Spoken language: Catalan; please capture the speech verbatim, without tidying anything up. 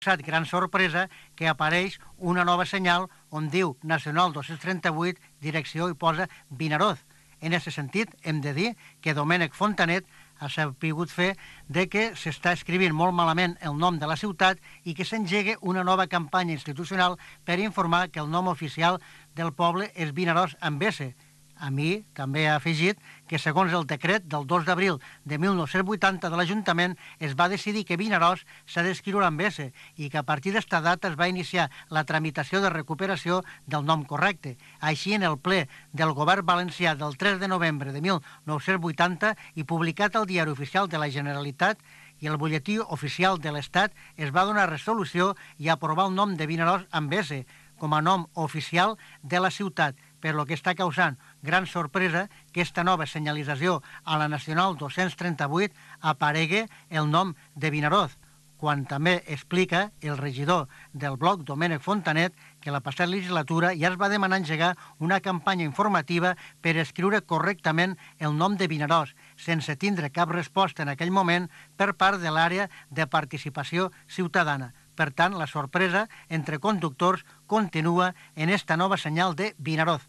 gran sorpresa que apareix una nova senyal on diu Nacional dos-cents trenta-vuit, direcció i posa Vinaroz. En aquest sentit, hem de dir que Domènec Fontanet ha sabut fer de que s'està escrivint molt malament el nom de la ciutat i que s'engegui una nova campanya institucional per informar que el nom oficial del poble és Vinaròs amb S. A mi també ha afegit que, segons el decret del dos d'abril de mil nou-cents vuitanta de l'Ajuntament, es va decidir que Vinaròs s'ha d'escriure amb S i que a partir d'esta data es va iniciar la tramitació de recuperació del nom correcte. Així, en el ple del Govern Valencià del tres de novembre de mil nou-cents vuitanta i publicat al Diari Oficial de la Generalitat i el Butlletí Oficial de l'Estat, es va donar resolució i aprovar el nom de Vinaròs amb S com a nom oficial de la ciutat, per lo que està causant gran sorpresa que esta nova senyalització a la Nacional dos-cents trenta-vuit aparegui el nom de Vinaroz, quan també explica el regidor del bloc, Domènec Fontanet, que la passada legislatura ja es va demanar engegar una campanya informativa per escriure correctament el nom de Vinaròs, sense tindre cap resposta en aquell moment per part de l'àrea de participació ciutadana. Per tant, la sorpresa entre conductors continua en esta nova senyal de Vinaroz.